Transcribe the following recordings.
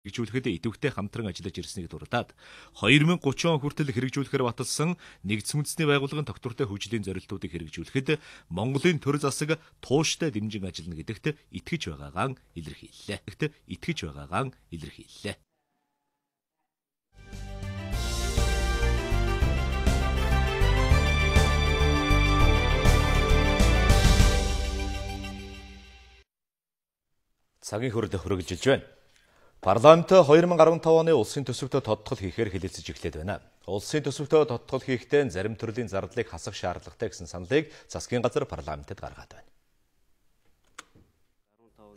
хэрэгжүүлэхэд идэвхтэй хамтран ажиллаж ирснийг дурдаад 2030 он хүртэл хэрэгжүүлэхээр баталсан нэгдсэн үндэсний байгууллагын тогтвортой хөгжлийн зорилтуудыг хэрэгжүүлэхэд Монголын төр засаг тууштай дэмжин ажиллана гэдэгт итгэж байгаагаа илэрхийллээ. Цагийн хурд хүргэлжилж байна. Парламент 2015 оны улсын төсөвтөө тодтол хийхээр хэлэлцэж эхлээд байна. Улсын төсөвтөө тодтол хийхдээ зарим төрлийн зардлыг хасах шаардлагатай гэсэн саналыг засгийн газар парламентэд гаргаад байна.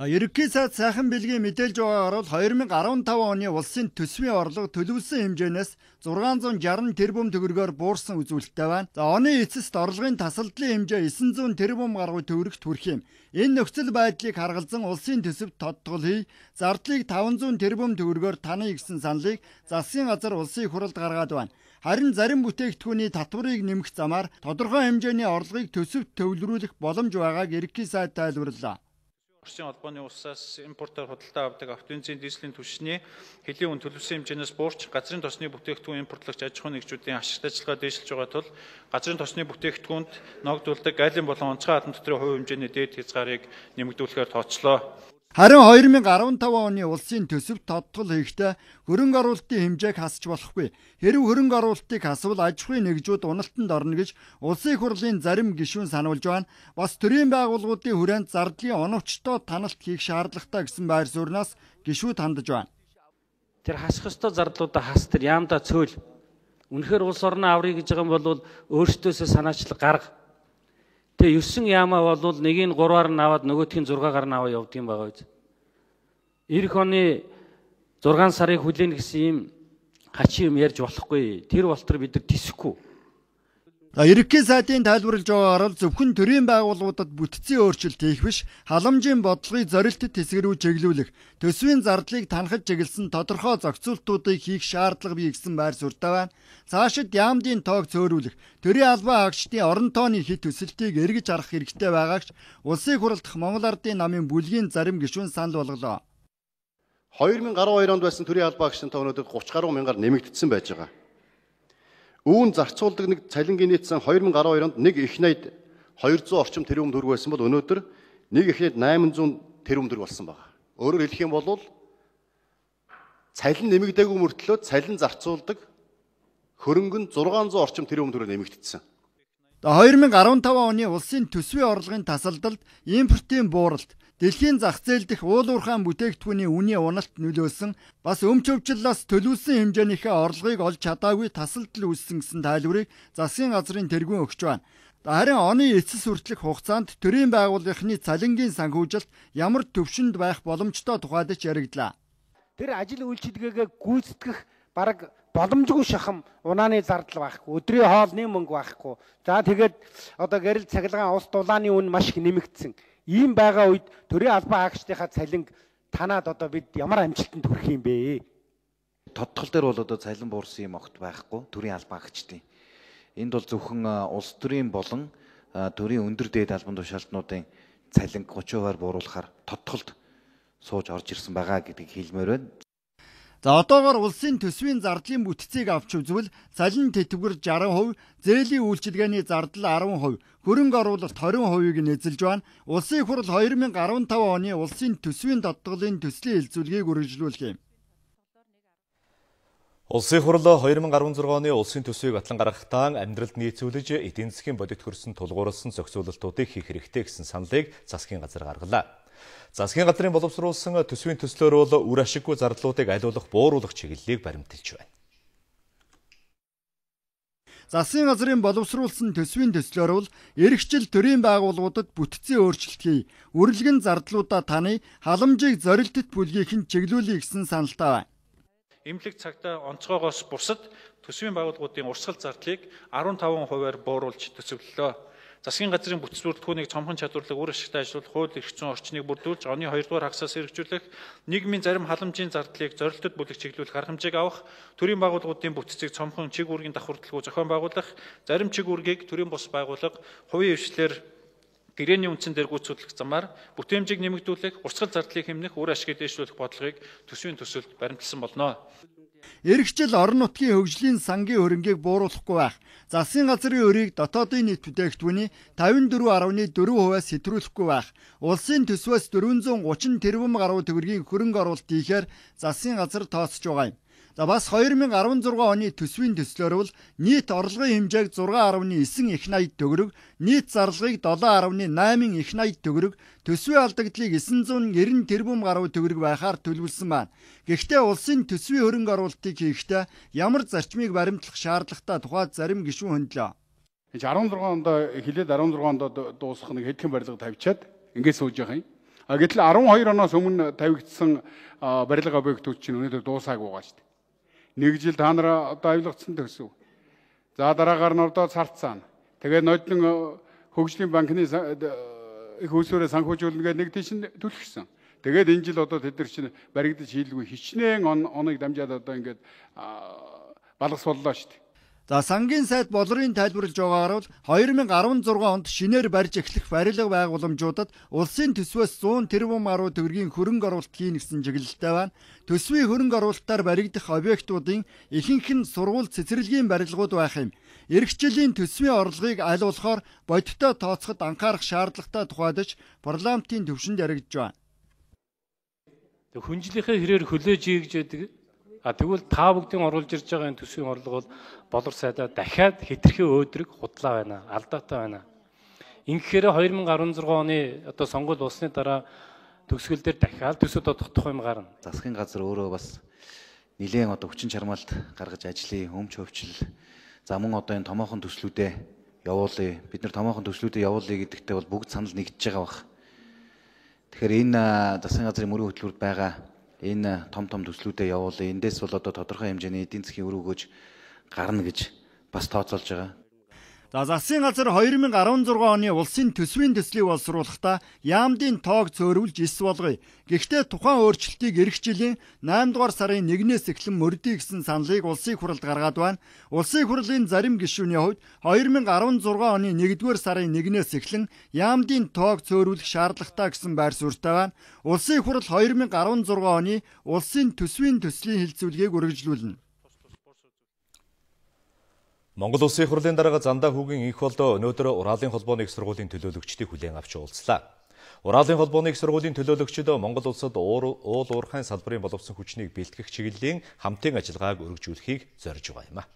Ерөнхий сайд сайхан бэлгийн мэдээлж байгаагаар 2015 оны улсын төсвийн орлого төлөвлөсөн хэмжээнээс 660 тэрбум төгрөгөөр буурсан үзүүлэлттэй байна. Оны эцэст орлогын тасалдлын хэмжээ 900 тэрбум гаруй төгрөгт хүрэх юм. Энэ нөхцөл байдлыг харгалзан улсын төсөвт тодтол хий, зардлыг 500 тэрбум төгрөгөөр таная гэсэн саналыг засгийн газар улсын их хурлд гаргаад байна. Харин зарим бүтээгдэхүүний татварыг нэмэх замаар тодорхой хэмжээний орлогыг төсөвт төвлөрүүлэх боломж байгааг ерөнхий сайд тайлбарлаа. Орчин холбооны улсаас импортоор худалдаа авдаг автоэнзийн дизелийн түвшний хэлийн үн төлөвлөсөн хэмжээнээс буурч газрын тосны бүтээгдэхүүн импортлогч аж ахуйн нэгжүүдийн ашигт ажиллагаа дээшилж байгаа тул газрын тосны бүтээгдэхүүнд ногдуулдаг айлын болон онцгой хадан дотрын хувь хэмжээний дээд хязгаарыг нэмэгдүүлэхээр тооцлоо. Харин 2015 оны улсын төсөвт тодтол хийхдээ хөрөнгө оруулалтын хэмжээг хасч болохгүй. Хэрэв хөрөнгө оруулалтыг хасвал аж ахуйн нэгжүүд уналтанд орно гэж улсын их хурлын зарим гишүүн сануулж байна. Бас төрийн байгууллагуудын хүрээнд зардлын оновчтой таналт хийх шаардлагатай гэсэн байр сууриас гишүүд хандаж байна. Тэр хасах ёстой зардлуудаа хас, тэр яамдаа цөөл. Үнэхээр улс орноо аврыг гэж байгаа юм бол өөртөөсөө санаачлаг гарга. Тэгээ 9 яамаа бол нэгийг 3-аар нь аваад нөгөөтгийг 6-аар нь аваа явдаг юм байгаа биз. Ирэх оны 6 сарыг хүлээнэ гэсэн юм хачин юм ярьж болохгүй. Тэр болтор бид нар тисэхгүй. Ерөнхий сайдын тайлбарлаж байгаагаар зөвхөн төрийн байгууллагуудад бүтцийн өөрчлөлт хийх биш, халамжийн бодлогыг зорилттой хэсэг рүү чиглүүлэх, төсвийн зардлыг танахад чиглэсэн тодорхой зохицуултуудыг хийх шаардлага бий гэсэн байр суурьтай байна. Цаашид яамдын тоог цөөрүүлэх, төрийн албан хаагчдын орон тооны хит төсөлтийг эргэж харах хэрэгтэй байгаагч улсын их хурлдах Монгол Ардын намын бүлгийн зарим гишүүн санал болголоо. 2012 онд байсан төрийн албан хаагчдын тоо өнөөдөр 30 гаруй мянгаар нэмэгдсэн байж байгаа. Үүн зарцуулдаг нэг цалингийн нийт сан 2012 онд нэг их найд 200 орчим тэрбум төгрөг байсан бол өнөөдөр нэг их найд 800 тэрбум төгрөг болсон байна. Өөрөөр хэлэх юм бол цалин нэмэгдээгүй мөртлөө цалин зарцуулдаг хөрөнгө нь 600 орчим тэрбум төгрөг нэмэгдсэн. 2015 оны улсын төсвийн орлогын тасалдалд импортын бууралт, дэлхийн зах зээл дэх уул уурхайн бүтээгдэхүүний үнийн уналт нөлөөсөн, бас өмч өвчлөлөөс төлөвлөсөн хэмжээнийхээ орлогыг олж чадаагүй тасалдал үүссэн гэсэн тайлбарыг засгийн газрын тэргүүн өгч байна. Харин оны эцэс хүртэлх хугацаанд төрийн байгууллагын цалингийн санхүүжилт ямар төвшөнд байх боломжтой тухайд ч яригдлаа. Тэр ажил үйлчилгээгээ гүйцэтгэх бараг боломжгүй шахам унааны зардал байхгүй, өдрийн хоолны мөнгө байхгүй. За тэгээд одоо гэрэл цахилгаан ус дулааны үн маш их нэмэгдсэн. Ийм байгаа үед төрийн албан хаагчдынхаа цалинг танаад одоо бид ямар амжилтанд хүрэх юм бэ? Тодтол дээр бол одоо цалин буурсан юм огт байхгүй төрийн албан хаагчдын. Энд бол зөвхөн улс төрийн болон төрийн өндөр дээд албан тушаалтнуудын цалин 30%-аар бууруулахаар тодтолд сууж орж ирсэн байгаа гэдгийг хэлмээр байна. За одоогоор улсын төсвийн зардлын бүтцийг авч үзвэл цалин тэтгэвэр 60%, зээлийн үйлчилгээний зардал 10%, хөрөнгө оруулалт 20%-ийг нэзэлж байна. Улсын их хурл 2015 оны улсын төсвийн тодтголын төслийн хэлцүүлгийг үргэлжлүүлэх юм. Улсын их хурл 2016 оны улсын төсвийг батлан гаргахдаа амьдралд нийцүүлж эдийн засгийн бодит хөрсөн тулгуурласан зохицуулалтуудыг хийх хэрэгтэй гэсэн саналыг засгийн газар гаргалаа. Засгийн газрын боловсруулсан төсвийн төслөөр бол үр ашиггүй зардлуудыг алиулах бууруулах чиглэлийг баримталж байна. Засгийн газрын боловсруулсан төсвийн төслөөр бол эх жил төрийн байгууллагуудад бүтцийн өөрчлөлт хий, үргэлгэн зардлуудаа таны халамжийг зорилттой бүлгийнхэн чиглүүлэх гэсэн саналтай байна. Эмнэлэг цагтаа онцгойгоос бусад төсвийн байгууллагуудын урсгал зардлыг 15%-аар бууруулж төсөвлөлөө. Засгийн газрын бүтц бүрэлдэхүүнийг цомхон чадварлаг үр ашигтай ажиллуулах хууль эрх зүйн орчныг бүрдүүлж, оны 2 дугаар хагасаас хэрэгжүүлэх, нийгмийн зарим халамжийн зардлыг зорилттой бүлэг чиглүүлэх арга хэмжээг авах, төрийн байгууллагуудын бүтцийг цомхон чиг үүргийн давхурдлагүй зохион байгуулах, зарим чиг үүргийг төрийн бус байгууллага хувийн хвшлэр Гэрээний үндсэн дээр гүйцэтгэх замаар бүтээмжийг нэмэгдүүлэх, урсгал зардлыг хэмнэх, үр ашгийг дэвшүүлэх бодлогыг төсвийн төсөлд баримталсан болно. Эрэгчил орон нутгийн хөгжлийн сангийн хөрөнгийг бууруулахгүй байх. Засгийн газрын өрийг дотоодын нийт бүтээгдэхүүний 54.4%-аас сэтрүүлэхгүй байх. Улсын төсвөөс 430 тэрбум гаруй төгрөгийн хөрөнгө оруулалт хийхээр засгийн газар тооцож байгаа юм. За бас 2016 оны төсвийн төслөөр бол нийт орлогын хэмжээг 6.9 их 80 төгрөг, нийт зарлагыг 7.8 их 80 төгрөг, төсвийн алдагдлыг 990 тэрбум гаруй төгрөг байхаар төлөвлөсөн байна. Гэхдээ улсын төсвийн хөрөнгө оруулалтыг хийхдээ ямар зарчмыг баримтлах шаардлагатай тухайд зарим гишүүн хөндлөө. 16 онд хилээд 16 онд дуусах нэг хэдхэн барилга тавьчаад ингээд сууж байгаа юм. Гэтэл 12 оноос өмнө тавигдсан барилга объектууд чинь өнөөдөр дуусаагүй байгаа шүү дээ. Нэг жил та нар одоо авилгацсан төсөв. За дараагаар нь одоо царт цаана. Тэгээд нодлон хөгжлийн банкны их усүрээ санхүүжүүлнэ гэдэг нэг тийш түлхсэн. Тэгээд энэ жил одоо тэд нар чинь баригдаж хийлгүй хичнээн оныг дамжаад одоо ингээд балгасволлоо шүү дээ. За сангийн сайд болрын тайлбарлаж байгаагаар бол 2016 онд шинээр барьж эхлэх барилга байгууламжуудад улсын төсвөөс 100 тэрбум гаруй төгрөгийн хөрөнгө оруулалт хийнэ гэсэн чиглэлтэй байна. Төсвийн хөрөнгө оруулалтаар баригдах объектуудын ихэнх нь сургууль цэцэрлэгийн барилгууд байх юм. Эх жилийн төсвийн орлогыг аль болохоор бодиттой тооцоход анхаарах шаардлагатай тухайдаж парламентын төвшөнд яригдж байна. Хүнжлийнхээ хэрээр хөлөөж ийгж байдаг. Тэгвэл та бүгдийн оруулж ирж байгаа энэ төсвийн орлого бол болор сайдаа дахиад хэтэрхий өөдрөг худлаа байна, алдаатай байна. Ингэхээр 2016 оны одоо сонгуул болсны дараа төгсгөл дээр дахиад төсөв тодогдох юм гарна. Засгийн газар өөрөө бас нэлээд одоо хүчин чармаалт гаргаж ажлын өмч хөвчл за мөн одоо энэ томоохон төслүүдэд явуулъя. Бид нар томоохон төслүүдэд явуулъя гэдэгтээ бол бүгд санал нэгдэж байгаа бах. Тэгэхээр энэ засгийн газрын мөрийн хөтөлбөрт байгаа энэ том төслүүдэд явуулъя. Эндээс бол одоо тодорхой хэмжээний эдийн засгийн үр өгөөж гарна гэж бас тооцоолж байгаа. За засгийн газар 2016 оны улсын төсвийн төслийг боловсруулахдаа яамдын тоог цөөрүүлж 9 болгоё. Гэхдээ тухайн өөрчлөлтийг эх жилийн 8 дугаар сарын 1-ээс эхлэн мөрдөй гэсэн саналыг улсын хурлд гаргаад байна. Улсын хурлын зарим гишүүний хувьд 2016 оны 1-р сарын 1-ээс эхлэн яамдын тоог цөөрүүлэх шаардлагатай гэсэн байр суурьтай байна. Улсын хурл 2016 оны улсын төсвийн төслийн хэлцүүлгийг үргэлжлүүлнэ. Монгол Улсын их хурлын дарга Зандаа хүүгийн инх болдоо өнөөдөр Ураалын холбооны их сургуулийн төлөөлөгчдийг хүлээн авч уулзлаа. Ураалын холбооны их сургуулийн төлөөлөгчид Монгол улсад уул уурхайн салбарын боловсон хүчнийг бэлтгэх чиглэлийн хамтын ажиллагааг өргөжүүлэхийг зорж байгаа юм а.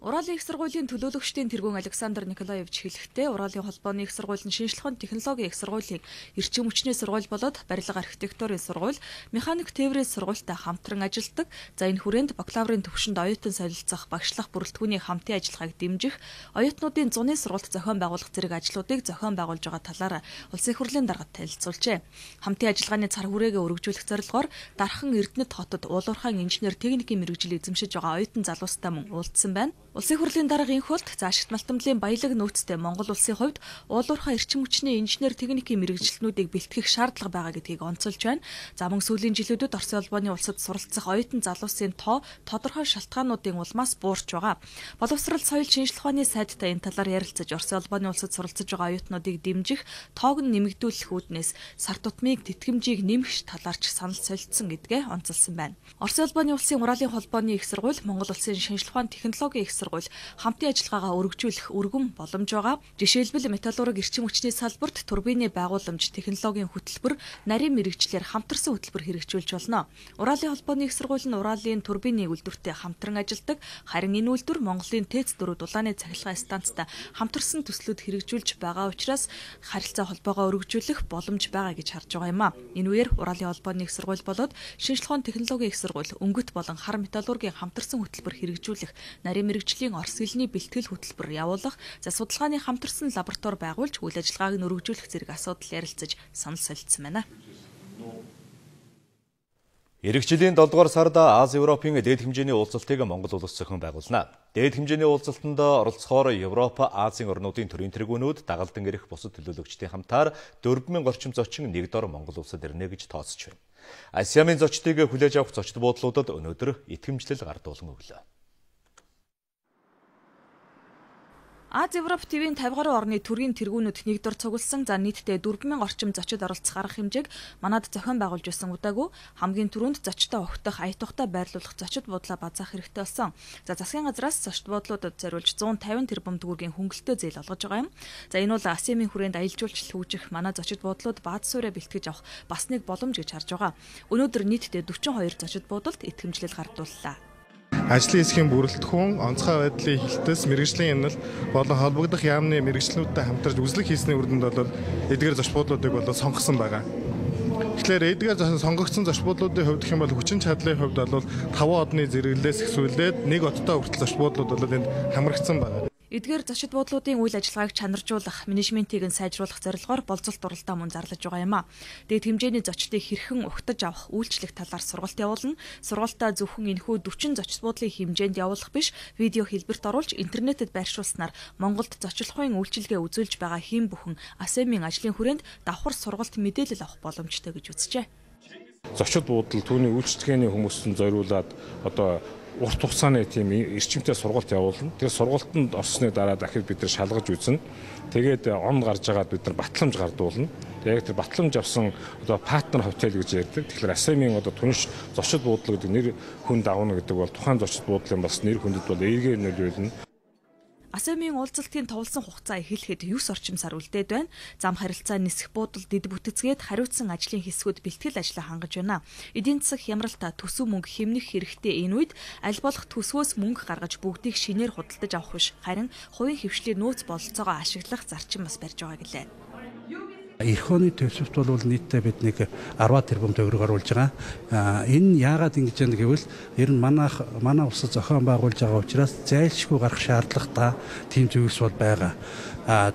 Ураалын их сургуулийн төлөөлөгчдийн тэргүүн Александр Николаевич хэлэхдээ Ураалын холбооны их сургууль нь шинжлэх ухааны технологийн их сургуулийн эрчим хүчний сургууль болоод барилга архитектурын сургууль, механик тээврийн сургуультай хамтран ажилладаг. За энэ хүрээнд бакалаврын төвшөнд оюутан солилцох, багшлах бүрэлдэхүүний хамтын ажиллагааг дэмжих, оюутнуудын зуны сургалт зохион байгуулах зэрэг ажлуудыг зохион байгуулж байгаа талаар Улсын их хурлын даргад танилцуулжээ. Хамтын ажиллагааны цар хүрээгээ өргөжүүлэх зорилгоор Дархан Эрдэнэт хотод уулуурхайн инженер техникийн мэргэжил эзэмшиж байгаа оюутан залуустай мөн уулзсан байна. Улсын хурлын дарга инхулт заашигт малтамдлын баялаг нөөцтэй Монгол улсын хувьд уулуурхай эрчим хүчний инженер техникийн мэргэжилтнүүдийг бэлтгэх шаардлага байгаа гэдгийг онцолж байна. За мөн сүүлийн жилүүдэд Оросын улбооны улсад суралцах оюутан залуусын тоо тодорхой шалтгаануудын улмаас буурч байгаа. Боловсрал соёл шинжлэх ухааны сайдтай энэ талаар ярилцаж Оросын улбооны улсад суралцж байгаа оюутнуудыг дэмжих, тоог нь нэмэгдүүлэх үүднээс сар тутмыг тэтгэмжийг нэмэх талаарч санал солилцсон гэдгээ онцолсон байна. Оросын улбооны улсын Ураалын холбооны их сургууль, Монгол улсын шинжлэх ухааны технологийн их сургууль хамтын ажиллагаагаа өргөжүүлэх өргөн боломж байгаа. Жишээлбэл металлурги эрчим хүчний салбарт турбины байгууламж, технологийн хөтөлбөр, нарийн мэргэжлэр хамтарсан хөтөлбөр хэрэгжүүлж болно. Ураалын холбооны их сургууль нь Ураалын турбины үйлдвэртэй хамтран ажилладаг. Харин энэ үйлдвэр Монголын ТЭЦ-4 дулааны цахилгаан станцтай хамтарсан төслүүд хэрэгжүүлж байгаа учраас харилцаа холбоогоо өргөжүүлэх боломж байгаа гэж харж байгаа юм а. Энэ үеэр Ураалын холбооны их сургууль болоод шинжлэх ухааны технологийн их сургууль, өнгөт болон хар металлургийн хамтарсан хөтөлбөр хэрэгжүүлэх, нарийн мэргэжлийн Орос хэлний бэлтгэл хөтөлбөр явуулах, за судалгааны хамтарсан лаборатори байгуулж үйл ажиллагааг нь өргөжүүлэх зэрэг асуудал ярилцаж санал солилцсон байна. Эх жилийн 7 дугаар сард Аз-Европын дээд хэмжээний уулзалтыг Монгол улс зохион байгуулна. Дээд хэмжээний уулзалтанд оролцохоор Европ, Азийн орнуудын төрийн тэргүүнүүд, дагалдан ирэх бусад төлөөлөгчдийн хамтаар 4000 орчим зочин нэг дор Монгол улсад ирнэ гэж тооцож байна. Асиамын зочдыг хүлээж авах зочд буудлуудад өнөөдөр итгэмжлэл гардуулан өглөө. Аз Европ ТV-ийн 50 гаруй орны төрийн тэргүүнүүд нэгдүгээр цугласан за нийтдээ 4000 орчим зочид оролцох арга хэмжээг манад зохион байгуулж байсан удаагүй хамгийн түрүүнд зочдтой огтох ая тухтай байрлуулах зочид буудлаа базаах хэрэгтэй болсон. За засгийн газраас зочид буудлуудад зориулж 150 тэрбум төгрөгийн хөнгөлөлтөө зээл олгож байгаа юм. За энэ бол АСЕМ-ийн хүрээнд аялал жуулчлал хөгжих манай зочид буудлууд бааз суурэ бэлтгэж авах бас нэг боломж гэж харж байгаа. Өнөөдөр нийтдээ 42 зочид буудалд итгэмжлэл гардууллаа. Ажлын хэсгийн бүрэлдэхүүн, онцгой байдлын хилтэс, мэргэжлийн энэл болон холбогдох яамны мэргэжлүүдтэй хамтарч үзлэг хийсний үр дүнд бол эдгээр зочид буудлуудыг бол сонгосон байгаа. Тэгэхээр эдгээр сонгогдсон зочид буудлуудын хувьд гэх юм бол хүчин чадлын хувьд бол 5 одны зэрэглэлээс эхсүүлээд 1 одтой хүртэл зочид буудлууд бол энд хамрагдсан байна. Эдгээр зочид буудлуудын үйл ажиллагааг чанаржуулах, менежментийг нь сайжруулах зорилгоор болцолт дуралдаа мөн зарлаж байгаа юм а. Дээд хэмжээний зочдыг хэрхэн ухтаж авах, үйлчлэх талаар сургалт явуулна. Сургалтаа зөвхөн энэхүү 40 зочид буудлын хэмжээнд явуулах биш, видео хэлбэрт оруулж интернетэд байршуулснаар Монголд зочлохын үйлчилгээ үзүүлж байгаа хэн бүхэн АСЕМ-ийн ажлын хүрээнд давхар сургалт мэдээлэл авах боломжтой гэж үзжээ. Зочид буудал түүний үйлчлэгээний хүмүүстэн зориулаад одоо урт хугацааны тийм эрчимтэй сургалт явуулна. Тэр сургалтанд орсны дараа дахид бид нар шалгаж үзнэ. Тэгээд он гарч байгаад бид нар батламж гардуулна. Тэгээд тэр батламж авсан одоо партнер хотел гэж ярьдаг. Тэгэхээр АСЕМ-ийн одоо түнш зочид буудлын гэдэг нэр хүнд авна гэдэг бол тухайн зочид буудлын бас нэр хүндэд бол эергээр нөлөөлнө. АСЕМ-ийн уулзалтын товлсон хугацаа эхлэхэд 9 орчим сар үлдээд байна. Зам харилцаа нисэх буудал дэд бүтцгээд хариуцсан ажлын хэсгүүд бэлтгэл ажлаа хангаж байна. Эдийн засаг хямралта төсөв мөнгө хэмнэх хэрэгтэй энэ үед аль болох төсвөөс мөнгө гаргаж бүгдийг шинээр худалдаж авах биш, харин хувийн хөвшлийн нөөц бололцоогоо ашиглах зарчим бас барьж байгаа гэлээ. Эх оны төвшөлт бол нийтдээ бид нэг 10 тэрбум төгрөг оруулж байгаа. Энэ яагаад ингэж яана гэвэл ер нь манай улсад зохион байгуулж байгаа учраас зайлшгүй гарах шаардлагатай тийм зүйлс бол байгаа.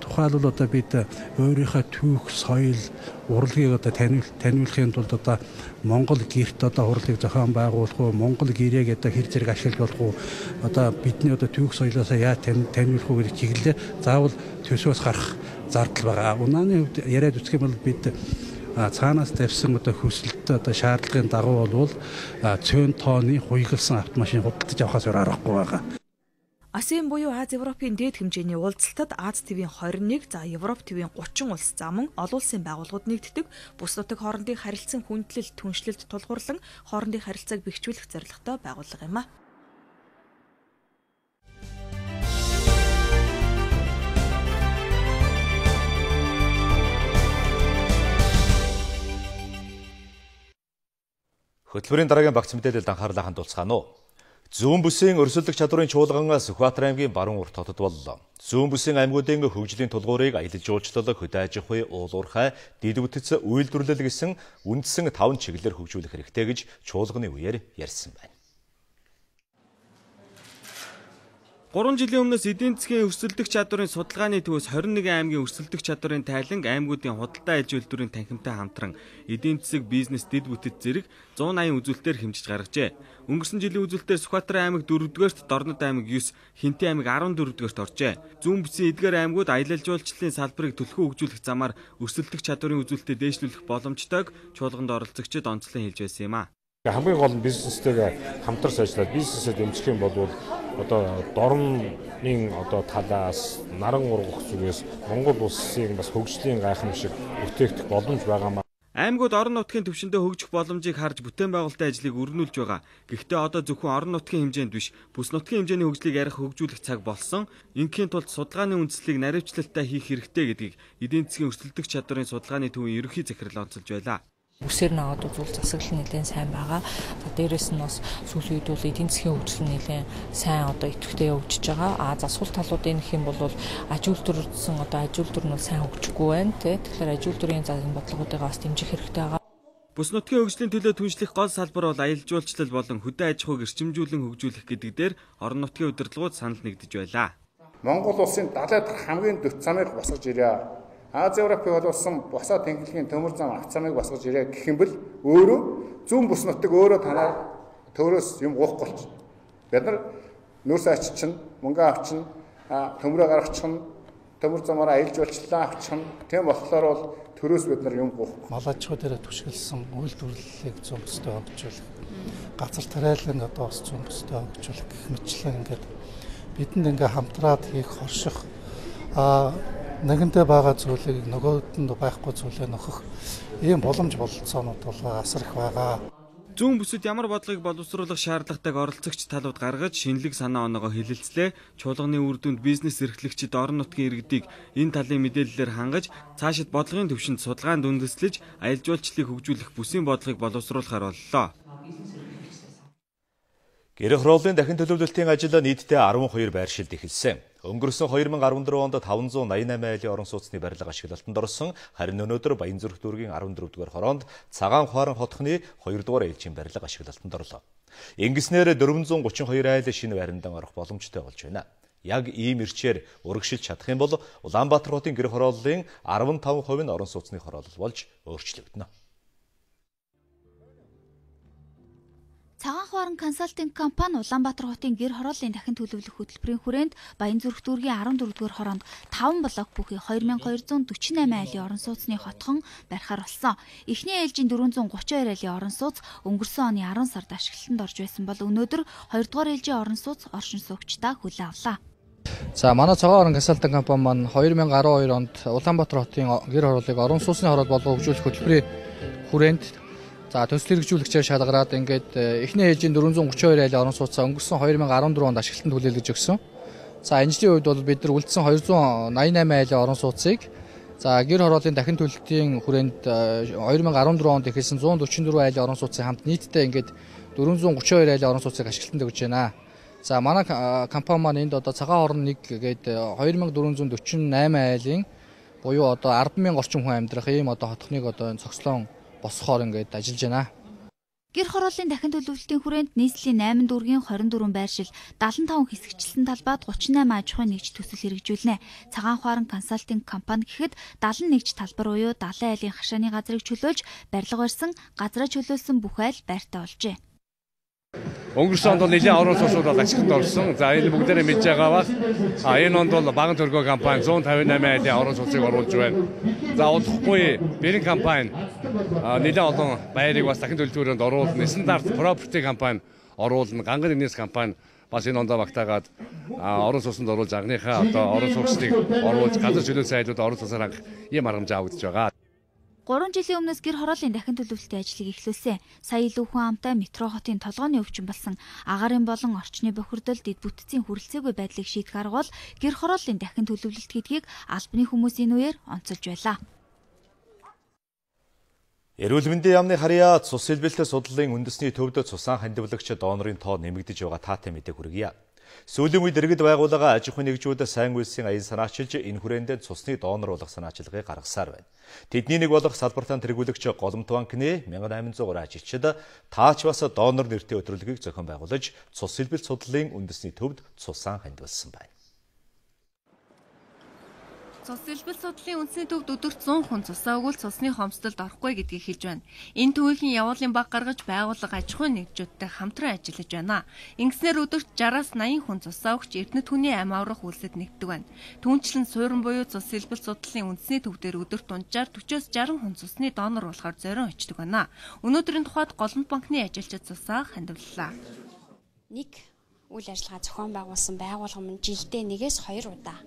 Тухайлбал одоо бид өөрийнхөө түүх, соёл, урлагийг одоо таниулахын тулд одоо Монгол гэрт одоо урлагийг зохион байгуулах уу, Монгол гэрээг одоо хэр зэрэг ашиглах уу, одоо бидний одоо түүх соёлоосоо яаж таниулах уу гэдэг чиглэлээр заавал төсвөөс гарах зардал байгаа. Унааны хувьд яриад үзэх юм бол бид цаанаас тавьсан одоо хүсэлт одоо шаардлагын дагуу бол цөөн тооны хуйгалсан автомашин худалдаж авахаас өөр аргагүй байгаа. АСЕМ буюу Аз Европын дээд хэмжээний уулзалтад Аз ТV-ийн 21, за Европ ТV-ийн 30 улс замун олон улсын байгууллагууд нэгддэг. Бүс нутаг хоорондын харилцан хүндлэл, түншлэлд тулгуурлан хоорондын харилцааг бэхжүүлэх зорилготой байгууллага юм а. Хөтөлбөрийн дараагийн багц мэдээлэлд анхаарлаа хандуулцгаана уу. Зүүн бүсийн өрсөлдөх чадварын чуулган Сүхбаатар аймгийн баруун урт хотод боллоо. Зүүн бүсийн аймагуудын хөгжлийн тулгуурыг аялал жуулчлал, хөдөө аж ахуй, уулуурхай, дэд бүтэц, үйлдвэрлэл гэсэн үндсэн 5 чиглэлээр хөгжүүлэх хэрэгтэй гэж чуулганы үеэр ярьсан байна. 3 жилийн өмнөөс эдийн засгийн өрсөлдөх чадварын судалгааны төвөөс 21 аймгийн өрсөлдөх чадварын тайланг аймагуудын худалдаа аж үйлдвэрийн танхимтай хамтран эдийн засаг, бизнес, дэд бүтэц зэрэг 180 үзүүлэлтээр хэмжиж гаргажээ. Өнгөрсөн жилийн үзүүлэлтээр Сүхбаатар аймаг 4-р, Дорнод аймаг 9, Хинтээ аймаг 14-р оржээ. Зүүн бүсийн эдгээр аймагуд аялал жуулчлалын салбарыг төлхөө хөгжүүлэх замаар өрсөлдөх чадварын үзүүлэлтэд дээшлүүлэх боломжтойг чуулганд оролцогчид онцлон хэлж байсан юм а. Хамгийн гол нь бизнестэйгээ хамтарч ажиллаад бизнесэд эмзэх юм бол одоо дорны одоо талаас наран ургах зүгээс Монгол улсын бас хөгжлийн гайхамшиг бүтээгдэх боломж байгаа. Аймагуд орон нутгийн түвшиндээ хөгжих боломжийг харж бүтээн байгуулалтын ажлыг өргөнүүлж байгаа. Гэхдээ одоо зөвхөн орон нутгийн хэмжээнд биш, бүс нутгийн хэмжээний хөгжлийг ярих хөгжүүлэх цаг болсон. Ингийн тулд судалгааны үндслийг наривчлалтай хийх хэрэгтэй гэдгийг эдийн засгийн өрсөлдөх чадварын судалгааны төвийн ерөнхий захирал онцолж байлаа. Үсээр наваад үзвэл засаглал нэлээд сайн байгаа. Дээрээс нь бас сүүлийн үед бол эдийн засгийн хөгжил нэлээд сайн одоо идэвхтэй явж байгаа. Засвал талуудын гэх юм бол аж үйлдвэрсэн одоо аж үйлдвэр нь бол сайн хөгжихгүй байна. Тэгэхээр аж үйлдвэрийн зан бодлогоодыг бас дэмжих хэрэгтэй байгаа. Бүс нутгийн хөгжлийн төлөө түншлэх гол салбар бол аялал жуулчлал болон хөдөө аж ахуйг эрчимжүүлэн хөгжүүлэх гэдэг дээр орон нутгийн удирдлагууд санал нэгдэж байлаа. Монгол улсын 70 дахь хамгийн дэвт замыг босгож ирээ. Аз Европын болсон босоо тэнхлэгийн төмөр зам авц замыг босгож ирээ гэх юм бол өөрөө зүүн бүс нутаг өөрөө танаа төөрөөс юм уухгүй болчих. Бид нар нөөц аччин, мөнгө авчин, төмрөө гаргачин, төмөр замаараа аялал жуулчлалаа авчин. Тийм болохоор бол төрөөс бид нар юм уухгүй. Мал аж ахуй дээр түшгэлсэн үйлдвэрлэлийг зүүн бүстэй хөгжүүлэх, газар тариалан одоо бас зүүн бүстэй хөгжүүлэх гэх мэтчлэн ингээд бидэнд ингээ хамтраад хийх хорших нэгэнтээ байгаа зүйлийг нөгөөдөнд байхгүй зүйлээ нөхөх ийм боломж бололцоонууд бол асар их байгаа. Зүүн бүсэд ямар бодлогыг боловсруулах шаардлагатайг оролцогч талууд гаргаж шинэлэг санаа оноогоо хэлэлцлээ. Чуулганы үр дүнд бизнес эрхлэгчид орон нутгийн иргэдийг энэ талын мэдээллээр хангаж цаашид бодлогын түвшинд судалгаанд үндэслэж аялал жуулчлалыг хөгжүүлэх бүсийн бодлогыг боловсруулахар боллоо. Гэрээ хорооллын дахин төлөвлөлтийн ажил нийтдээ 12 байршилд эхэлсэн. Өнгөрсөн 2014 онд 588 айлын орон сууцны барилга ашиглалтанд орсон. Харин өнөөдөр Баянзүрх дүүргийн 14-р хороонд Цагаан Хуаран хотхны 2-р ээлжийн барилга ашиглалтанд орлоо. Ингэснээр 432 айл шинэ байрандан орох боломжтой болж байна. Яг ийм ирчээр урагшилж чадах юм бол Улаанбаатар хотын гэрээ хорооллын 15% нь орон сууцны хороолол болж өөрчлөгдөнө. Цагаан Хуаран консалтинг компани Улаанбаатар хотын гэр хорооллын дахин төлөвлөх хөтөлбөрийн хүрээнд Баянзүрх дүүргийн 14-р хороонд 5 блок бүхий 2248 айлын орон сууцны хотхон барихаар болсон. Эхний ээлжийн 432 айлын орон сууц өнгөрсөн оны 10 сард ашиглалтанд орж байсан бол өнөөдөр 2-р ээлжийн орон сууц оршин суугчдаа хүлээн авлаа. За манай Цагаан Хуаран консалтинг компани маань 2012 онд Улаанбаатар хотын гэр хорооллыг орон сууцны хороол болгох хөгжүүлэх хөтөлбөрийн хүрээнд төсөл хэрэгжүүлэгчээр шалгараад ингээд эхний ээлжийн 432 айлын орон сууцаа өнгөрсөн 2014 онд ашиглалтанд хүлээлгэж өгсөн. За энэ жилийн үед бол бид нар үлдсэн 288 айлын орон сууцыг гэр хорооллын дахин төлөлтийн хүрээнд 2014 онд эхэлсэн 144 айлын орон сууцын хамт нийтдээ ингээд 432 айлын орон сууцыг ашиглалтанд өгч байна. За манай компани маань энд одоо Цагаан Хуаран 1 гээд 2448 айлын буюу одоо 10,000 орчим хүн амьдрах ийм одоо хотхныг одоо цогцлон босхоор ингээд ажиллаж байна. Гэр хорооллын дахин төлөвлөлтийн хүрээнд нийслэлийн 8 дүүргийн 24 байршил, 75 хэсэгчлэн талбайд 38 аж ахуйн нэгж төсөл хэрэгжүүлнэ. Цагаан Хуаран консалтинг компани гэхэд 70 нэгж талбар буюу 70 айлын хашааны газрыг чөлөөлж барилга барьсан, газраа чөлөөлсөн бүх айл байртай болжээ. Өнгөрсөн онд бол нэлээд орон сууцууд бол ашиглалтанд орсон. За энэ бүгдээрээ мэдж байгаа бас энэ онд бол Баган төргөө компани 158 айлын орон сууцыг оруулж байна. За удахгүй Бэрэн компани нэлээд олон байрыг бас дахин төлөвлөрөнд оруулна. Стандарт Property компани оруулна. Ганган Инээс компани бас энэ ондоо багтаагаад орон сууцнд оруулж агныхаа одоо орон сууцыг оруулж газар чөлөөсөн айлууд орон сууцаар хангах ийм аргамж авагдаж байгаа. 3 жилийн өмнөөс гэр хорооллын дахин төлөвлөлтийн ажлыг эхлүүлсэн. Сая илүү хүн амтай метро хотын толгойн өвчин болсон агаарын болон орчны бохирдол дэд бүтцийн хүрэлцээгүй байдлыг шийдэх арга бол гэр хорооллын дахин төлөвлөлт гэдгийг албаны хүмүүсийн үеэр онцолж байлаа. Эрүүл мэндийн яамны харьяа цус илбэлтэй судлалын үндэсний төвд цусан хандивлагч донорын тоо нэмэгдэж байгаа таатай мэдээг хүргье. Сүүлийн үед иргэд байгууллага аж ахуйн нэгжүүд сайн үйлсийн аян санаачилж энэ хүрээндээ цусны донор болох санаачилгыг гаргасаар байна. Тэдний нэг болох салбартаа тэргүүлэгч Голомт банкны 1803 ажилчид таач бас донор нэртэй өдрөлгийг зохион байгуулж цус илбэлт судлалын үндэсний төвд цусан хандивалсан байна. Цус илбэлт судлалын үндэсний төвд өдөрт 100 хүн цусаа өгвөл цусны хомсдолд орохгүй гэдгийг хэлж байна. Энэ төвийн явуулын баг гаргаж байгууллага аж ахуйн нэгжүүдтэй хамтран ажиллаж байна. Ингэснээр өдөрт 60-аас 80 хүн цусаа өгч эрдэнэт хүний амь аврах үйлсэд нэгддэг байна. Түүнчлэн суурин буюу цус илбэлт судлалын үндэсний төв дээр өдөрт дунджаар 40-60 хүн цусны донор болохоор зорион очдог байна. Өнөөдрийн тухайд Голомт банкны ажилчид цусаа хандивллаа. Нэг үйл ажиллагаа зохион байгуулсан байгууллага мань жилдээ 1-2 удаа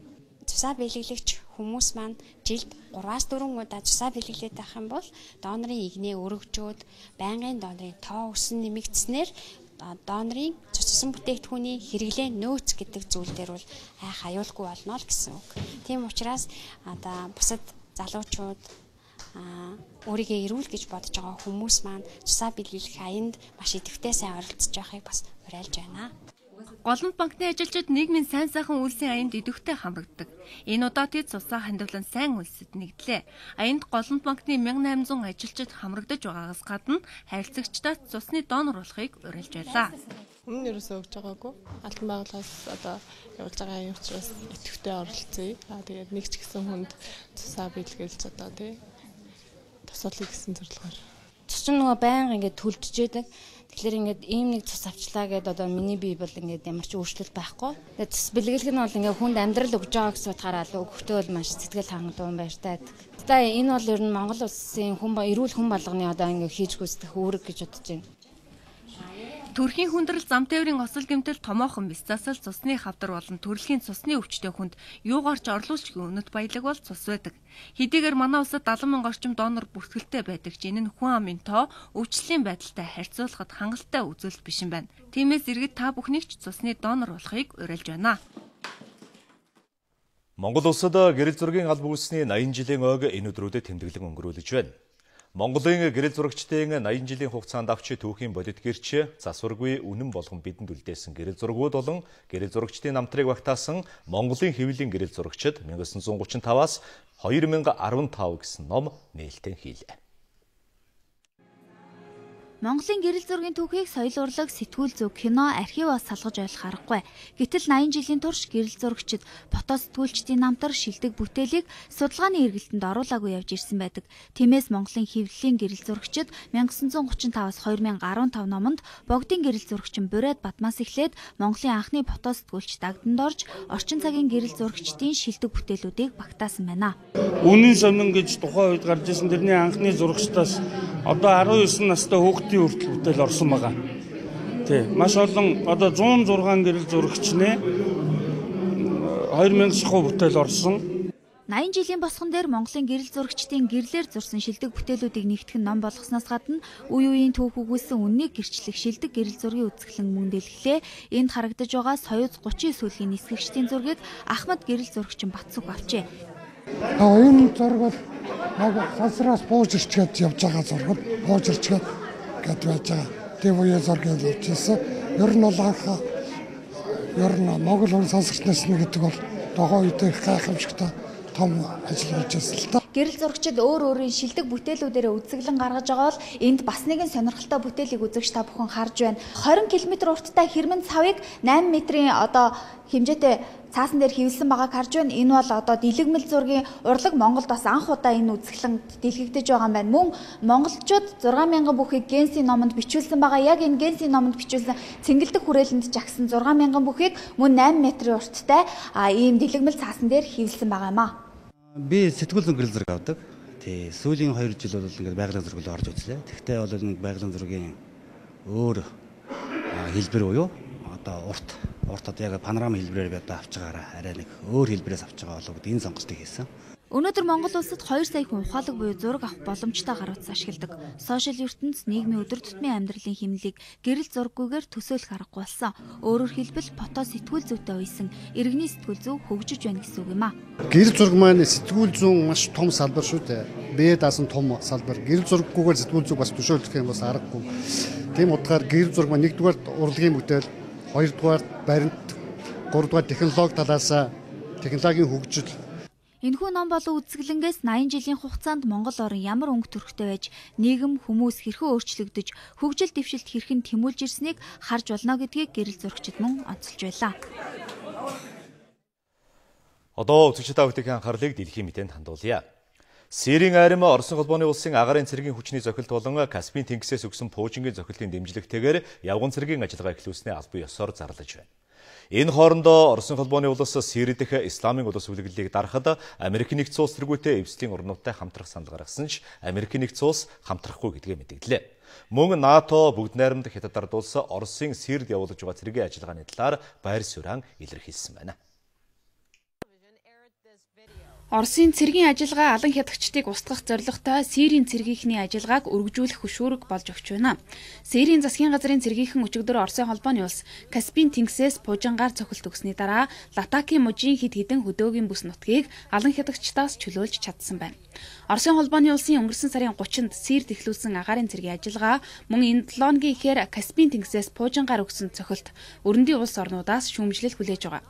цусаа бэлэглэгч хүмүүс маань жилд 3-4 удаа цусаа бэлэглээд байх юм бол донорын игнээ өргөжөөд байнгын донорын тоо өсөн нэмэгдснээр донорын цуцсан бүтээгдэхүүний хэрэглээ нөөц гэдэг зүйл дээр бол айх аюулгүй болно л гэсэн үг. Тийм учраас одоо бусад залуучууд өөрийгөө эрүүл гэж бодож байгаа хүмүүс маань цусаа бэлэглэх аянд маш идэвхтэй сайн оролцож байхыг бас уриалж байна. Голомт банкны ажилчид нийгмийн сайн сайхан үйлсийн аянд идэвхтэй хамрагддаг. Энэ удаа тэд цусаа хандивлан сайн үйлсэд нэгдлээ. Аянд Голомт банкны 1800 ажилчид хамрагдаж байгаагаас гадна харилцагчдаа цусны донор болохыг уриалж байлаа. Өмнө нь ерөөсөө өгж байгаагүй. Албан байгууллагаас одоо явуулж байгаа юм учраас идэвхтэй оролцъё. Тэгээд нэг ч гэсэн хүнд цусаа бэлгэлж одоо тий тусалъя гэсэн зорилгоор. Цус чинь нөгөө байнга ингээд төлдөжээдэг. Тэгэхээр ингээд ийм нэг цус авчлаа гэдээ одоо миний бие бол ингээд ямар ч өөрчлөлт байхгүй. Тэгээд цус бэлгэлэх нь бол ингээд хүнд амьдрал өгж байгаа гэсэн утгаараа л өгөхдөө бол маш сэтгэл хангалттай баяртай. Тэгээд энэ бол ер нь Монгол улсын эрүүл хүн болгоны одоо ингээд хийж гүйцэтгэх үүрэг гэж бодож байна. Төрхийн хүндрэл зам тээврийн осол гэмтэл томоохон бис засал цусны хавдар болон төрөлхийн цусны өвчтөе хүнд юугаарч орлуулж үнэт баялаг бол цус байдаг. Хэдийгээр манай улсад 70,000 орчим донор бүртгэлтэй байдаг ч энэ нь хүн амын тоо өвчлөлийн байдалтай харьцуулахад хангалттай үзүүлэлт биш юм байна. Тиймээс иргэд та бүхнийг ч цусны донор болохыг уриалж байна. Монгол улсад гэрэл зургийн алба үүссний 80 жилийн ойг энэ өдрүүдэд тэмдэглэн өнгөрүүлж байна. Монголын гэрэл зурагчдын 80 жилийн хугацаанд авч түүхийн бодит гэрч засваргүй үнэн болгон бидэнд үлдээсэн гэрэл зургууд болон гэрэл зурагчдын намтрыг багтаасан Монголын хэвлэлийн гэрэл зурагчид 1935-аас 2015 гэсэн ном нээлттэй хийлээ. Монголын гэрэл зургийн түүхийг соёл урлаг, сэтгүүл зүйн, кино, архиваас салгаж ойлгох аргагүй. Гэтэл 80 жилийн турш гэрэл зурагчид фото сэтгүүлчдийн намтар шилдэг бүтээлийг судалгааны эргэлтэнд оруулаагүй явж ирсэн байдаг. Тиймээс Монголын хэвлэлийн гэрэл зурагчид 1935-аас 2015 номонд богдын гэрэл зурагчин Бурайд Бадмаас эхлээд Монголын анхны фото сэтгүүлч Дагданд орж орчин цагийн гэрэл зурагчдын шилдэг бүтээлүүдийг багтаасан байна. Үнэн сонин гэж тухайн үед гарч ирсэн тэрний анхны зурагчдаас одоо 19 настай хүүхдийн хүртэл бүтээл орсон байгаа. Тий, маш олон одоо 106 гэрэл зурагчны 2000 шахуу бүтээл орсон. 80 жилийн босгон дээр Монголын гэрэл зурагчдын гэрлээр зурсан шилдэг бүтээлүүдийг нэгтгэх ном болгосноос гадна үе үеийн түүх өгүүлсэн үннийг гэрчлэх шилдэг гэрэл зургийн үзэсгэлэн мөн дэлгэлээ. Энд харагдаж байгаа Соёз 39 сүүлгийн нисгэгчдийн зургийг Ахмад гэрэл зурагчин Батсүх авчээ. Энэ зураг бол сансраас бууж ирчгээд явж байгаа зураг. Бууж ирчгээд гээд байж байгаа. Тэг үеийн зургийг авч ирсэн. Ер нь бол Монгол хүн сансагчнаас нэг гэдэг бол догоо үедээ гайхамшигтай том ажил болж ирсэн л та. Гэрэл зурагчид өөр өөрийн шилдэг бүтээлүүдээр үзэсгэлэн гаргаж байгаа бол энд бас нэгэн сонирхолтой бүтээлийг үзэгч та бүхэн харж байна. 20 км урттай Хэрмэн цавыг 8 метрийн хэмжээтэй цаасан дээр хивэлсэн байгааг харж байна. Энэ бол дэлгэмэл зургийн урлаг Монголд бас анх удаа энэ үзэсгэлэн дэлгэгдэж байгаа юм байна. Мөн монголчууд 6,000 бүхийг Генсийн номонд бичүүлсэн байгаа. Яг энэ Генсийн номонд бичүүлсэн цэнгэлдэх хүрээлэнд жагсан 6,000 бүхийг мөн 8 метрийн урттай ийм дэлгэмэл цаасан дээр хивэлсэн байгаа юм аа. Би сэтгүүл зүйн гэрэл зураг авдаг. Тий, сүүлийн 2 жил бол ингээд байгалийн зураг руу орж үзлээ. Тэгвэл бол энэ байгалийн зургийн өөр хэлбэр буюу одоо урт одоо яг панорама хэлбэрээр би одоо авч байгаараа арай нэг өөр хэлбэрээс авч байгаа болов гэдэг энэ сонголтыг хийсэн. Өнөөдөр Монгол улсад 2 сая хүн ухаалаг буюу зураг авах боломжтой гаруйц ашигладаг. Сошиал ертөнц нийгмийн өдөр тутмын амьдралын хэмнэлийг гэрэл зураггүйгээр төсөөлөх аргагүй болсон. Өөрөөр хэлбэл фото сэтгүүл зүйтэй уйсан иргэний сэтгүүл зүй хөгжиж байна гэсэн үг юм а. Гэрэл зураг маань сэтгүүл зүйн маш том салбар шүү дээ. Бие даасан том салбар. Гэрэл зураггүйгээр сэтгүүл зүйг бас төсөөлөх юм бас аргагүй. Тийм утгаар гэрэл зураг маань 1-р урлагийн бүтээл, 2-р баримт, 3-р технологи талаас технологийн хөгжил. Энэхүү ном болон үзэсгэлэнгээс 80 жилийн хугацаанд Монгол орн ямар өнгө төрхтэй байж нийгэм хүмүүс хэрхэн өөрчлөгдөж хөгжил дэвшилт хэрхэн тэмүүлж ирснийг харж болно гэдгийг гэрэл зурагчид мөн онцолж байлаа. Одоо үзэгчид бүтэгийн анхаарлыг дэлхийн мэдээнд хандуулъя. Сирийн арим Оросын холбооны улсын агарын цэргийн хүчний зохилт болон Каспийн тэнгисээс өгсөн пуужингийн зохилтын дэмжлэгтэйгээр явган цэргийн ажиллагаа эхлүүлснээ албан ёсоор зарлаж байна. Энэ хоорондоо Оросын холбооны улс Сири дэх исламын улс үлгэлийг дарахад Америк нэгдсэн улс тэргүүтээ эвслийн орнуудтай хамтрах санал гаргасан ч Америк нэгдсэн улс хамтрахгүй гэдгээ мэдэгдлээ. Мөн НАТО бүгд найрамдах Хятад ард улс Оросын Сирид явуулж байгаа цэргийн ажиллагааны талаар байр суурин илэрхийлсэн байна. Оросын цэргийн ажиллагаа алан хятагчдыг устгах зорилготой Сирийн цэргийнхний ажиллагааг өргөжүүлэх хөшүүрэг болж өгч байна. Сирийн засгийн газрын цэргийнхэн өчигдөр Оросын холбооны улс Каспийн тэнгисээс пуужингаар цохилт өгсөний дараа Латакийн мужийн хэд хэдэн хөдөөгийн бүс нутгийг алан хятагчдаас чөлөөлж чадсан байна. Оросын холбооны улсын өнгөрсөн сарын 30-нд Сирд эхлүүлсэн агаарын цэргийн ажиллагаа мөн энэ 7 хоногийн ихээр Каспийн тэнгисээс пуужингаар өгсөн цохилт өрөндийн улс орнуудаас шүүмжлэл хүлээж байгаа.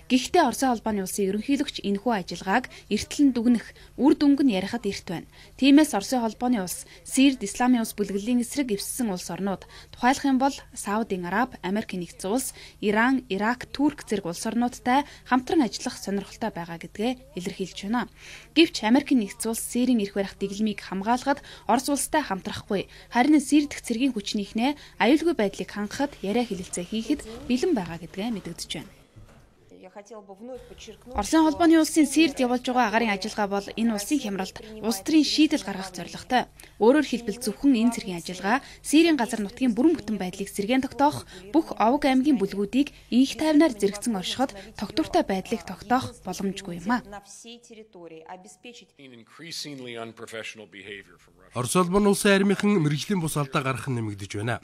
Гэхдээ Оросын холбооны улсын ерөнхийлөгч энэхүү ажиллагааг эртлэн дүгнэх үр дүнг нь ярихад эрт байна. Тиймээс Оросын холбооны улс Сирд исламын улс бүлэглэлийн эсрэг эвссэн улс орнууд тухайлах юм бол Саудын Араб, Америк нэгдсэн улс, Иран, Ирак, Турк зэрэг улс орнуудтай хамтран ажиллах сонирхолтой байгаа гэдгээ илэрхийлж байна. Гэвч Америк нэгдсэн улс Сирийн эрх барих дэглэмийг хамгаалахад Орос улстай хамтрахгүй, харин Сир дэх цэргийн хүчнийхнээ аюулгүй байдлыг хангахад яриа хэлэлцээ хийхэд бэлэн байгаа гэдгээ мэдэгдэж байна. Оросын холбооны улсын Сирд явуулж байгаа агаарын ажиллагаа бол энэ улсын хямралд улс төрийн шийдэл гаргах зорилготой. Өөрөөр хэлбэл зөвхөн энэ цэргийн ажиллагаа Сирийн газар нутгийн бүрэн бүтэн байдлыг сэргээн тогтоох, бүх овог аймгийн бүлгүүдийг инх тайвнаар зэрэгцэн оршиход тогтвортой байдлыг тогтоох боломжгүй юм а. Орос улбаны улсын армийнхан мэргэжлийн бус алдаа гаргах нь нэмэгдэж байна.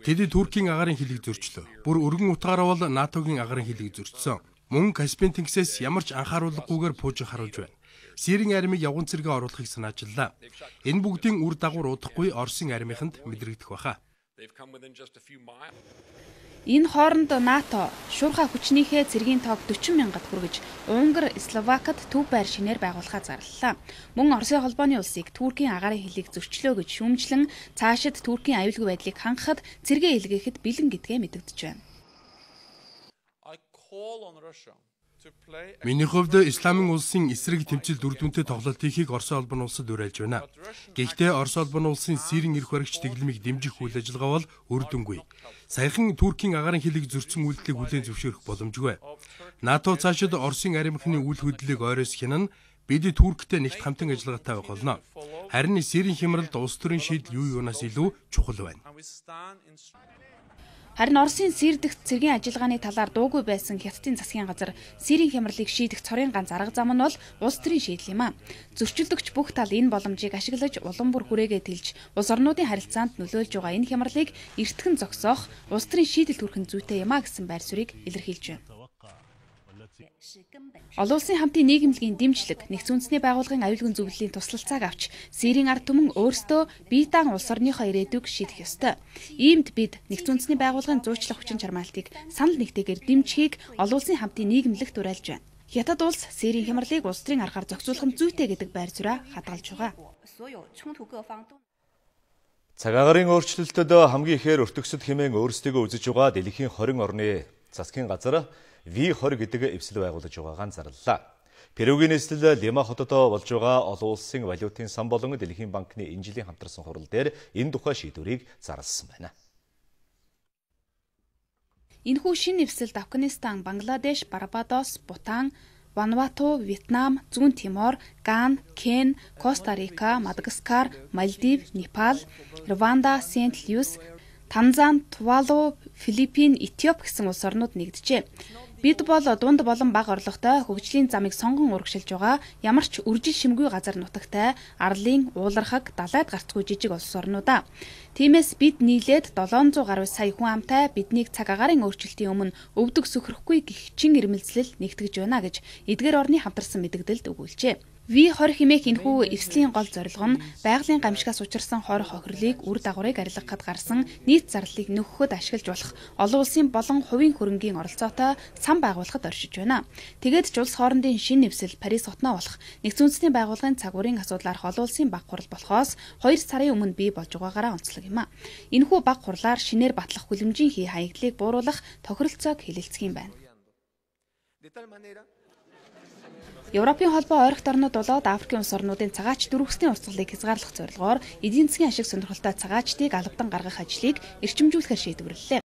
Тэд Туркийн агаарын хилийг зөрчлөө. Бүр өргөн утгаараа бол НАТОгийн агаарын хилийг зөрчсөн. Мөн Каспийн тэнгисээс ямар ч анхааруулгагүйгээр пуужин харуулж байна. Сирийн армийг явган цэргээ оруулахыг санаачиллаа. Энэ бүгдийн үр дагавар удахгүй Оросын армийнханд мэдрэгдэх баха. Энэ хооронд НАТО шуурхай хүчнийхээ цэргийн тоог 40 мянгад хүргэж Унгар, Словакад төв байр шинээр байгуулахаа зарлалаа. Мөн Оросын холбооны улсыг Туркийн агаарын хилийг зөрчлөө гэж шүүмжлэн цаашид Туркийн аюулгүй байдлыг хангахад цэргээ илгээхэд бэлэн гэдгээ мэдэгдэж байна. Миний хувьд Исламын улсын эсрэг тэмцэл дүрдүнтэй тоглолт хийхийг Оросын холбооны улсад уриалж байна. Гэхдээ Оросын холбооны улсын Сирийн эрх баригч дэглэмийг дэмжих үйл ажиллагаа бол үр дүнгүй. Саяхан Туркийн агаарын хилийг зөрчсөн үйлдэлийг хүлээн зөвшөөрөх боломжгүй. НАТО цаашид Оросын армийнхны үйл хөдлөлийг ойроос хянана бид Турктэй нэгт хамтан ажиллагаатай байх болно. Харин Сирийн хямралд улс төрийн шийдэл юу юунаас илүү чухал байна. Харин Оросын Сир дэх цэргийн ажиллагааны талаар дуугүй байсан Хятадын засгийн газар Сирийн хямралыг шийдэх цорын ганц арга зам нь бол улс төрийн шийдэл юм а. Зөрчилдөгч бүх тал энэ боломжийг ашиглаж улам бүр хүрээгээ тэлж улс орнуудын харилцаанд нөлөөлж байгаа энэ хямралыг эртхэн зогсоох улс төрийн шийдэл төрхөн зүйтэй юм а гэсэн байр суурийг илэрхийлж байна. Олон улсын хамтын нийгэмлэгийн дэмжлэг нэгдсэн үндэсний байгууллагын аюулгүй зөвлөлийн туслалцааг авч Сирийн ард түмэн өөрсдөө бие даан улс орныхоо ирээдүйг шийдэх ёстой. Иймд бид нэгдсэн үндэсний байгууллагын зуучлах хүчин чармаалтыг санал нэгтэйгээр дэмжихийг олон улсын хамтын нийгэмлэгт уриалж байна. Хятад улс Сирийн хямралыг улс төрийн аргаар зохицуулах нь зүйтэй гэдэг байр зураа хадгалж байгаа. Цаг агарын өөрчлөлтөд хамгийн ихээр өртөгсөд хэмээн өөрсдийгөө үзэж байгаа дэлхийн 20 орны засгийн газар V20 гэдэг эвсэл байгуулж байгаагаа зарлалаа. Перугийн нийслэл Лима хотод болж байгаа олон улсын валютын сан болон Дэлхийн банкны энэ жилийн хамтарсан хурал дээр энэ тухай шийдвэрийг зарласан байна. Энэхүү шинэ эвсэлд Афганистан, Бангладеш, Барбадос, Бутан, Вануату, Вьетнам, Зүүн Тимор, Ган, Кен, Коста Рика, Мадагаскар, Мальдив, Непал, Рванда, Сент Люис, Танзан, Тувалу, Филиппин, Этиоп гэсэн улс орнууд нэгджээ. Бид бол дунд болон бага орлоготой хөгжлийн замыг сонгон урагшилж байгаа ямар ч үржил шимгүй газар нутагтай арлын уулархаг далайд гарцгүй жижиг улс орнуудаа. Тиймээс бид нийлээд 700 гаруй сая хүн амтай биднийг цаг агарын өөрчлөлтийн өмнө өвдөг сөхрөхгүй гэх чин ирмэлзлэл нэгтгэж байна гэж эдгээр орны хамтарсан мэдээлэлд өгүүлжээ. V20 хэмээх энэхүү эвслийн гол зорилго нь байгалийн гамшигаас учирсан хор хохирлыг үр дагаврыг арилгахад гарсан нийт зарлалыг нөхөхөд ашиглаж болох олон улсын болон хувийн хөрөнгийн оролцоотой сан байгуулахад оршиж байна. Тэгээд ч улс хоорондын шинэ эвсэл Парис хотноо болох нэгдсэн үндэсний байгууллагын цагуурийн асуудлаарх олон улсын баг хурал болохоос 2 сарын өмнө бий болж байгаагаараа онцлог юм а. Энэхүү баг хурлаар шинээр батлах хүлэмжийн хий хаягдлыг бууруулах тохиролцоог хэлэлцэх юм байна. Европын холбоо ойрогт орнууд болоод Африкийн улс орнуудын цагаач дөрвөсний урсгалыг хязгаарлах зорилгоор эдийн засгийн ашиг сонирхолтой цагаачдыг албадан гаргах ажлыг эрчимжүүлэхээр шийдвэрлэлээ.